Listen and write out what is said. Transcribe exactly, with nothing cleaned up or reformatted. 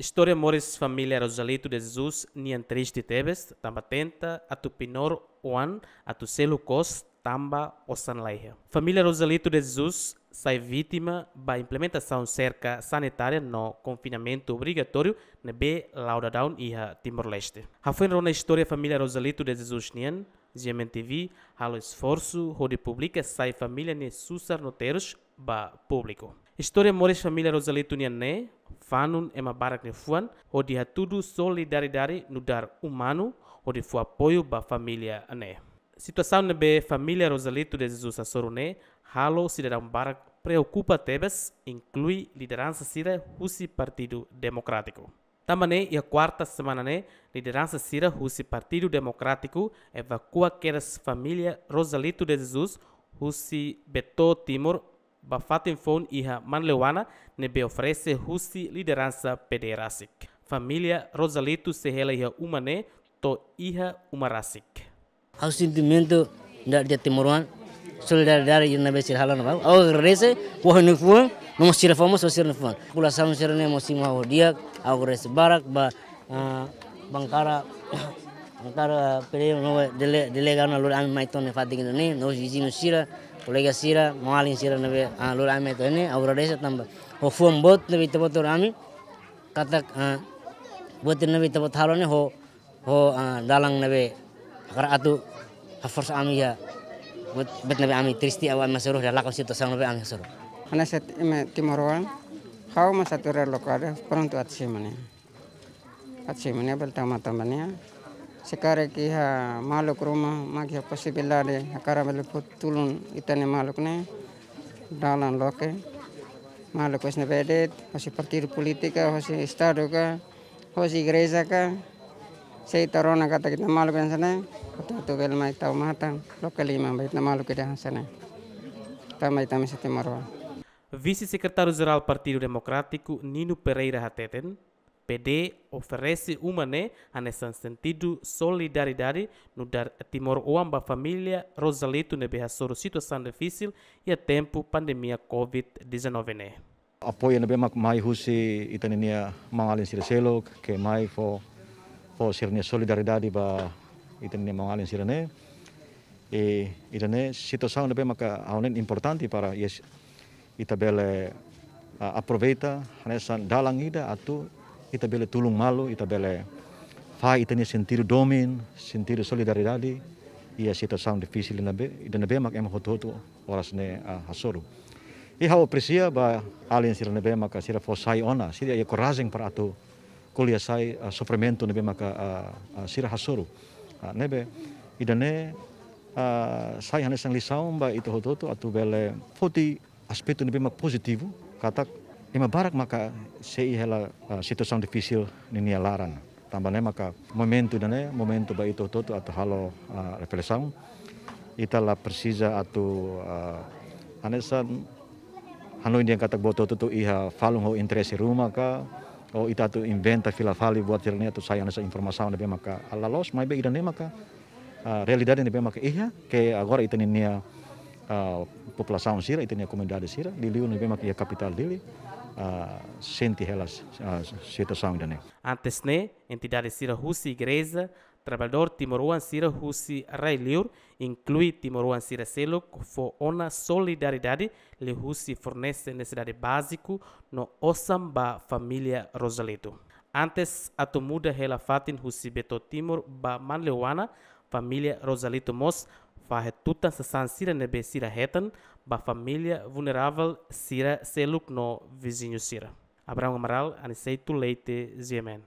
Istória moris família Rosalito de Jesus nian triste tebes, tanba tenta atu pinor oan atu selu kos tanba osan laiha. Família Rosalito de Jesus sai vítima ba implementasaun serka sanitária no konfinamentu obrigatóriu ne'ebé la'o daudaun iha Timor-Leste. Hafoin rona istória família Rosalito de Jesus nian, G M N T V halo esforsu hodi publika sai família nia susar no terus ba públiku. Istória moris família Rosalito nian ne'e, fanun ema barak nia fuan, hodi hatudu solidariedade nu'udar umanu, hodi fó apoiu ba família ne'e. Situasaun ne'ebé família Rosalito de Jesus hasoru ne'e, halo sidadaun barak preokupa tebes, inklui lideransa sira husi Partidu Demokrátiku. Tanba ne'e, iha kuarta semana ne'e, lideransa sira husi Partidu Demokrátiku evakua kedas família Rosalito de Jesus husi Beto Timor ba fatin foun iha Manleuana ne'ebé oferese husi lideransa P D rasik. Família Rosalito sei hela iha uma ne'e to'o iha uma rasik. Ha'u sentimentu da dia timoroan, solidariedade ida ne'ebé sira halo ona ba ha'u. Ha'u agradese, ha'u-nia fuan, no mós sira fó mós, sira-nia fuan. Populasaun sira-ne'e mós simu ha'u di'ak, ha'u agradese barak ba, ah, bankada, bankada P D no dele-, delega ona lori ami mai to'o ne'e fatin ida-ne'e, no viziñu sira, kolega sira, maun-alin sira ne'ebé, ah, lori ami mai to'o ne'e, ha'u agradese tanba ho fuan boot ne'ebé ita-boot lori ami, katak, ah, buat ne'ebé ita-boot halo ne'e ho, ho, ah, dalan ne'ebé hakarak atu haforsa ami iha buat, buat ne'ebé ami triste, ha'u, ami hasoru, iha lakon situasaun ne'ebé ami hasoru. Hanesan ema timoroan, ha'u mós atu relokadu, prontu atu simu ne'e. Atu simu ne'e bele tama tanba ne'e. Se karik iha maluk ruma mak iha posibilidade hakarak bele fó tulun ita-nia maluk ne'e, dalan loke. Maluk husi ne'ebé de'it, husi partidu polítika, husi estadu ka, husi igreja ka, se ita rona katak ita-nia maluk hanesan ne'e, atu, atu bele mai tau matan, loke liman ba ita-nia maluk ida hanesan ne'e. Tanba ita mesti timoroan. Vise-Sekretáriu-Jerál Partidu Demokrátiku, Nino Pereira hateten, P D oferese uma ne'e hanesan sentidu solidariedade nu'udar timoroan ba família Rosalito ne'ebé hasoru situasaun difisil iha tempu pandemia covid dezanove ne'e. Apoiu ne'ebé mak mai husi ita-nia maun-alin sira seluk, ke mai fó, fó sira-nia solidariedade ba ita-nia maun-alin sira-ne'e. I ida-ne'e situasaun ne'ebé maka ha'u hanoin importante para, yes, ita bele, ah, aproveita hanesan dalan ida atu ita bele tulun malu, ita bele fahe ita-nia sentidu domin, sentidu solidariedade iha situasaun difisil ne'ebé, ida ne'ebé mak ema hotu-hotu oras ne'e, ah, hasoru. I ha'u apresia ba alin sira ne'ebé maka sira fó sai ona, sira iha korajen para atu ko'alia sai, ah, sofrimentu ne'ebé maka, ah, ah, sira hasoru. Ah, ne'ebé ida-ne'e, ah, sai hanesan lisaun ba ita hotu-hotu atu bele foti aspetu ne'ebé mak pozitivu, katak ema barak maka sei hela, ah, situasaun difisil ninia laran. Tanba ne'e maka momentu ida-ne'e, momentu ba ita hotu-hotu atu halo, ah, reflesaun. Ita la presiza atu, ah, hanesan hanoin dehan katak buat hotu-hotu iha falun ho interese ruma ka, ou ita atu inventa fila fali buat sira-ne'e atu sai hanesan informasaun ne'ebé maka la loos, maibé ida-ne'e maka, ah, realidade ne'ebé maka iha, ke agora ita-nia, ah, populasaun sira, ita-nia komunidade sira, liuliu ne'ebé maka iha kapitál Dili, ah, sente hela, ah, situasaun ida-ne'e. Antes ne'e, entidade sira husi igreja, traballadór timoroan sira husi rai-liur, inklui timoroan sira seluk, fó ona solidariedade liuhusi fornese nesesidade báziku no osan ba família Rosalito. Antes atu muda hela fatin husi Beto Timor ba Manleuana, família Rosalito mós fahe tutan sasán sira ne'ebé sira hetan ba família vulneravel sira seluk no viziñu sira. Abrão Amaral, Aniceto Leite, G M N.